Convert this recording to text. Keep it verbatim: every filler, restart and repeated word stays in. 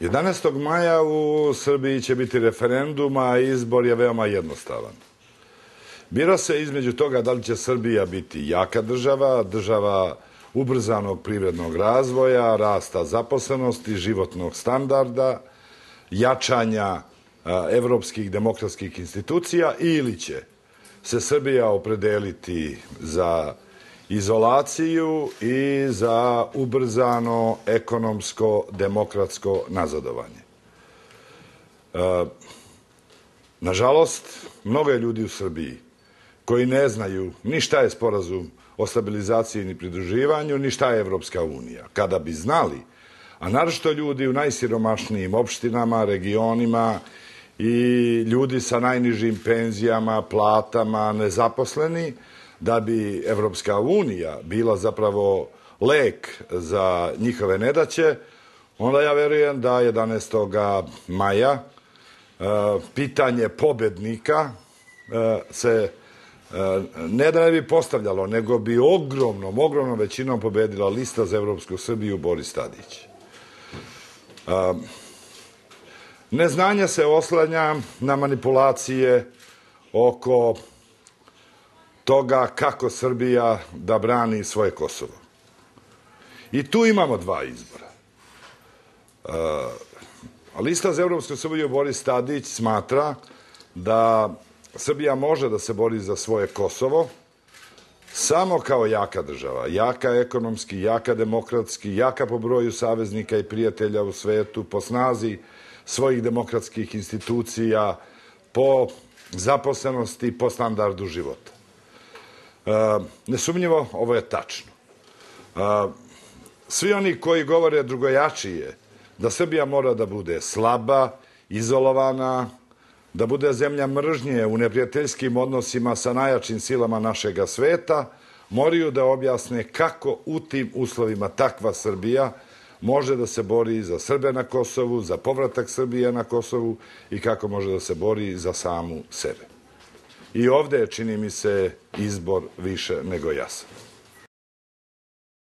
jedanaestog maja u Srbiji će biti referendum, a izbor je veoma jednostavan. Bira se između toga da li će Srbija biti jaka država, država ubrzanog privrednog razvoja, rasta zaposlenosti, životnog standarda, jačanja evropskih demokratskih institucija, ili će se Srbija opredeliti za izolaciju i za ubrzano ekonomsko demokratsko nazadovanje. Nažalost, mnogo je ljudi u Srbiji koji ne znaju ni šta je sporazum o stabilizaciji ni pridruživanju, ni šta je Evropska unija. Kada bi znali, a naročito ljudi u najsiromašnijim opštinama, regionima i ljudi sa najnižim penzijama, platama, nezaposleni, da bi Evropska unija bila zapravo lek za njihove nedaće, onda ja verujem da jedanaestog maja pitanje pobednika se ne da ne bi postavljalo, nego bi ogromnom, ogromnom većinom pobedila lista za Evropsku Srbiju Boris Tadić. Neznanje se oslanja na manipulacije oko toga kako Srbija da brani svoje Kosovo. I tu imamo dva izbora. Lista za Evropsku Srbiju Boris Tadić smatra da Srbija može da se bori za svoje Kosovo samo kao jaka država, jaka ekonomski, jaka demokratski, jaka po broju saveznika i prijatelja u svetu, po snazi svojih demokratskih institucija, po zaposlenosti, po standardu života. Nesumnjivo, ovo je tačno. Svi oni koji govore drugojačije, da Srbija mora da bude slaba, izolovana, da bude zemlja mržnje u neprijateljskim odnosima sa najjačim silama našega sveta, moraju da objasne kako u tim uslovima takva Srbija može da se bori za Srbe na Kosovu, za povratak Srbije na Kosovu i kako može da se bori za samu sebe. I ovde je, čini mi se, izbor više nego jasan.